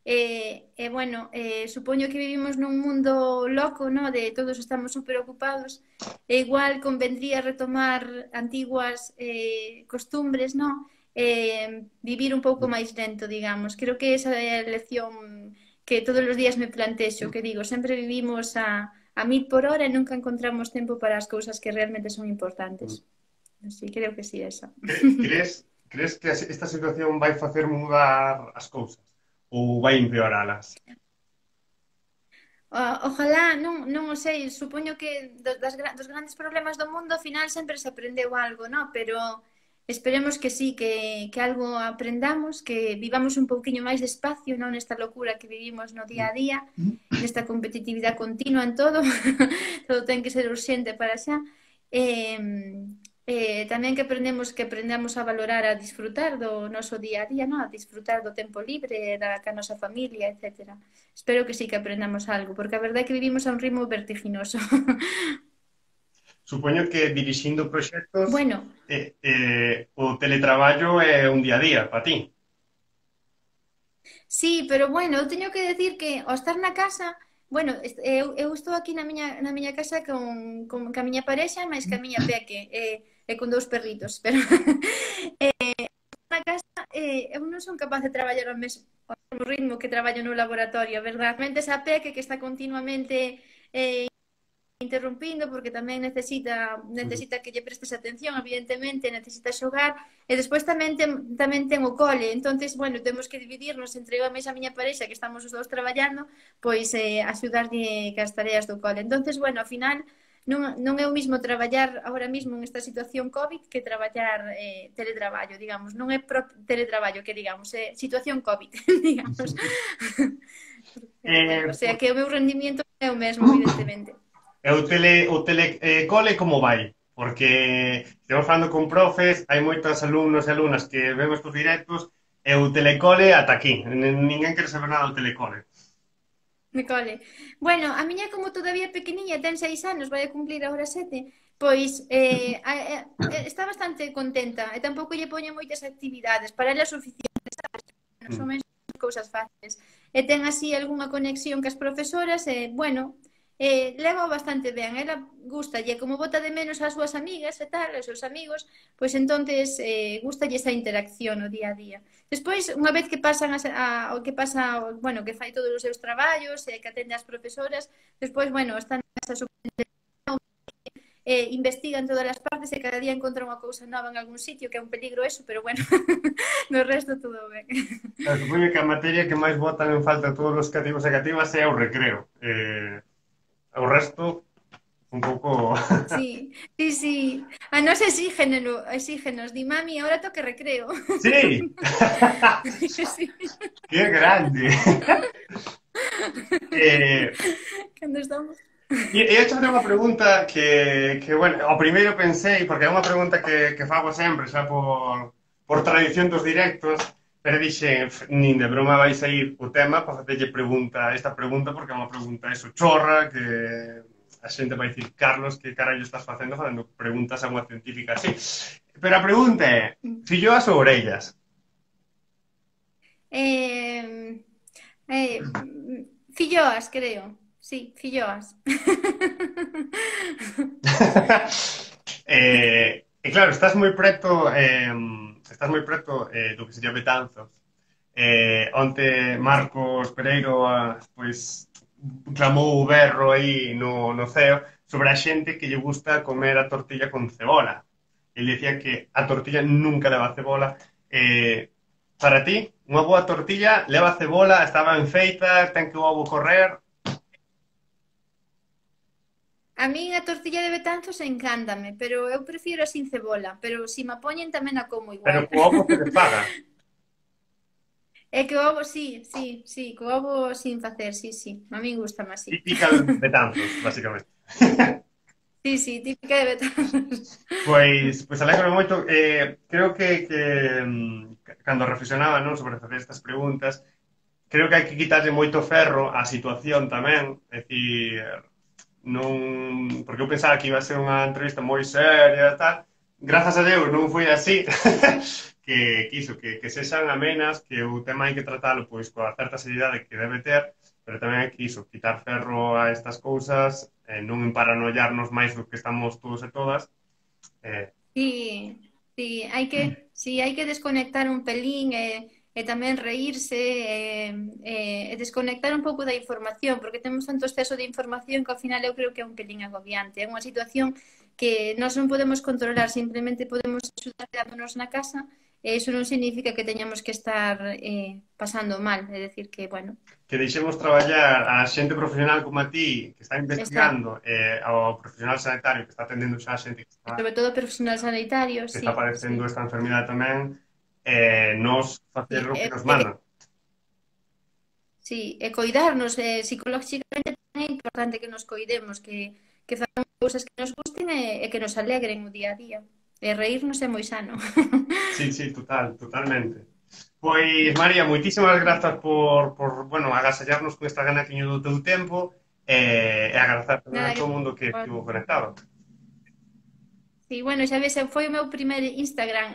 E, e bueno, eh, supoño que vivimos nun mundo loco, no? De todos estamos super ocupados. E igual convendría retomar antiguas eh, costumbres, no? Eh, vivir un pouco máis lento, digamos. Creo que esa é a lección que todos os días me plantexo, que digo, sempre vivimos a, a mil por hora e nunca encontramos tempo para as cousas que realmente son importantes. Así, creo que sí, esa. Cre- Crees, crees que as- esta situación vai facer mudar as cousas? Ou vai empeoralas? O- Ojalá, non, non o sei, supoño que do- das, gra- dos grandes problemas do mundo ao final sempre se aprendeu algo, no? Pero esperemos que sí, que, que algo aprendamos, que vivamos un pouquiño máis despacio, non nesta locura que vivimos no día a día, nesta competitividade continua en todo, todo ten que ser urxente para xa. Eh, eh, tamén que aprendemos que aprendamos a valorar, a disfrutar do noso día a día, no? A disfrutar do tempo libre, da ca nosa familia, etcétera. Espero que sí que aprendamos algo, porque a verdade é que vivimos a un ritmo vertiginoso. Supoño que dirixindo proxectos Bueno, eh, eh, o teletraballo é un día a día para ti. sí, pero bueno, eu teño que decir que ao estar na casa, bueno, est- eu, eu estou aquí na miña, na miña casa con, con, ca miña parexa, máis que a miña peque, e, e con dous perritos, pero na casa eh, eu non son capaz de traballar ao mesmo, ao mesmo ritmo que traballo no laboratorio, a verdade. Mente esa peque que está continuamente eh, interrumpindo porque tamén necesita necesita que lle prestes atención, evidentemente, necesita xogar e despois tamén ten, tamén ten o cole. Entonces, bueno, temos que dividirnos entre eu e a miña parexa que estamos os dous traballando, pois eh, axudarlle cas tareas do cole. Entonces, bueno, ao final non, non é o mismo traballar agora mesmo en esta situación COVID que traballar eh, teletraballo, digamos. Non é pro teletraballo que digamos, é situación COVID, digamos. Eh, O sea, que o meu rendimiento é o mesmo, evidentemente. E o tele, o tele eh, cole como vai? Porque estamos falando con profes, hai moitos alumnos e alumnas que ven estes directos e o telecole ata aquí. N- Ninguén quere saber nada do telecole. Me cole. Bueno, a miña como todavía pequeniña, ten seis anos, vai a cumplir agora sete, pois eh, a, a, está bastante contenta e tampouco lle poñen moitas actividades, para ela é suficiente, sabes? Son Mm. menos cousas fáciles. E ten así algunha conexión cas profesoras e, bueno, eh, leva bastante ben. Ela gustalle, como bota de menos as súas amigas e tal, os seus amigos, pois entonces eh, gustalle esa interacción no día a día. Despois, unha vez que pasan a, a, o que pasa, bueno, que fai todos os seus traballos e que atende as profesoras, despois, bueno, están nesa eh, investigan todas as partes e cada día encontra unha cousa nova en algún sitio, que é un peligro eso, pero bueno, no resto todo ben. Claro, supoño que a materia que máis botan en falta todos os cativos e cativas é o recreo. Eh, o resto, un pouco... Sí, sí, sí. A nos exígenos, exígenos. Di, mami, ahora toque recreo. Sí! Sí. ¡Qué grande! eh, Cando estamos... E, e hecho unha pregunta que, que, bueno, ao primeiro pensei, porque é unha pregunta que, que fago sempre, xa por, por tradición dos directos, pero dixe, nin de broma vai sair o tema para facerlle pregunta, esta pregunta, porque é unha pregunta eso chorra, que a xente vai dicir, Carlos, que carallo estás facendo facendo preguntas a unha científica así. Pero a pregunta é, filloas ou orellas? Eh, eh, filloas, creo. Sí, filloas. eh, e claro, estás moi preto, eh, estás moi preto eh, do que sería Betanzos. Eh, onte Marcos Pereiro ah, pois clamou o berro aí no, no ceo sobre a xente que lle gusta comer a tortilla con cebola. Ele decía que a tortilla nunca leva cebola. Eh, para ti, unha boa tortilla leva cebola, está ben feita, ten que o ovo correr. A min a tortilla de Betanzos encántame, pero eu prefiro a sin cebola, pero se si me poñen tamén a como Pero igual. co ovo se desfaga. É que o ovo, sí, sí, sí, co ovo sin facer, sí, sí. A min gusta máis, sí. Típica Betanzos, básicamente. Sí, sí, típica de Betanzos. Pois, pois alegro moito. Eh, creo que, que mm, cando reflexionaba, non, sobre facer estas preguntas, creo que hai que quitarlle moito ferro á situación tamén. É dicir, non... Porque eu pensaba que iba a ser unha entrevista moi seria e tal. Grazas a Deus non foi así. que, que iso, que, que sexan amenas, que o tema hai que tratalo pois coa certa seriedade que debe ter, pero tamén hai que iso, quitar ferro a estas cousas, eh, non emparanoiarnos máis do que estamos todos e todas. Eh, Sí, sí, hai que, sí, hai que desconectar un pelín e, e tamén reírse e, e, e desconectar un pouco da información, porque temos tanto exceso de información que ao final eu creo que é un pelín agobiante. É unha situación que nós non podemos controlar, simplemente podemos axudar quedándonos na casa, e iso non significa que teñamos que estar eh, pasando mal, é decir que, bueno, que deixemos traballar a xente profesional como a ti, que está exacto. investigando, eh, ao profesional sanitario que está atendendo xa a xente que E está, sobre todo personal sanitario, que está sí, sí. padecendo esta enfermidade tamén, eh, nos facer Sí, o que e, nos e mandan. sí, e coidarnos eh, psicolóxicamente tamén é importante que nos coidemos, que, que facamos cousas que nos gusten e, e que nos alegren o día a día. E reírnos é moi sano. Sí, sí, total, totalmente. Pois, María, moitísimas grazas por, por bueno, agasallarnos con esta ganaquiño do teu tempo eh, e agradecer tamén Nada a que... todo o mundo que estivo conectado. Sí, bueno, xa ves, foi o meu primer Instagram.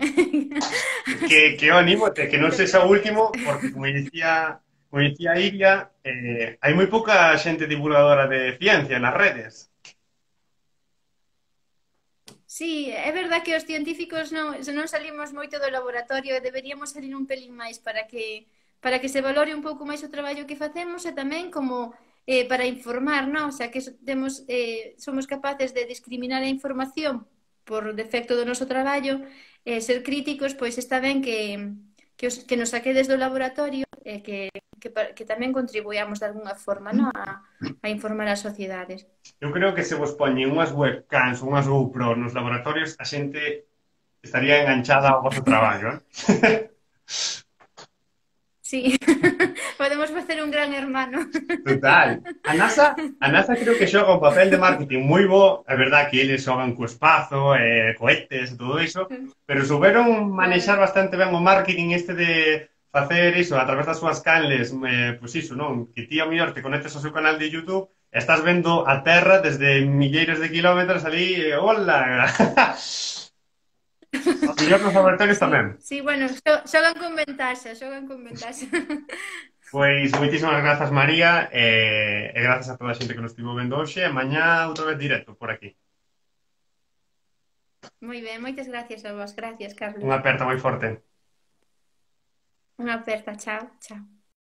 Que, Así que que, eu anímote, que non pero sexa o gracias. último, porque como dicía, como dicía Iria, eh, hai moi pouca xente divulgadora de ciencia nas redes. Sí, é verdad que os científicos non, se non salimos moito do laboratorio e deberíamos salir un pelín máis para que para que se valore un pouco máis o traballo que facemos e tamén como eh, para informar, non? O sea, que temos, eh, somos capaces de discriminar a información por defecto do noso traballo, eh, ser críticos, pois está ben que, que, os, que nos saquedes do laboratorio e que, que, que tamén contribuamos de alguna forma, non? A, a informar as sociedades. Eu creo que se vos poñen unhas webcams, unhas GoPro nos laboratorios, a xente estaría enganchada ao vosso traballo, eh? Sí, podemos facer un gran hermano. Total. A NASA, a NASA creo que xoga un papel de marketing moi bo, é verdad que eles xogan co espazo, eh, cohetes e todo iso, pero souberon manexar Claro. bastante ben o marketing este de facer iso a través das súas canles, eh, pois iso, non? Que ti a mellor te conectes ao seu canal de YouTube e estás vendo a Terra desde milleiros de kilómetros ali, eh, hola! A mellor nos laboratorios tamén. Sí, sí, bueno, xo- xogan con ventaxa, xogan con ventaxa. Pois moitísimas grazas, María, e, e grazas a toda a xente que nos estivo vendo hoxe. E mañá outra vez directo por aquí. Moi ben, moitas gracias a vos. Gracias, Carlos. Unha aperta moi forte. Unha aperta, chao, chao.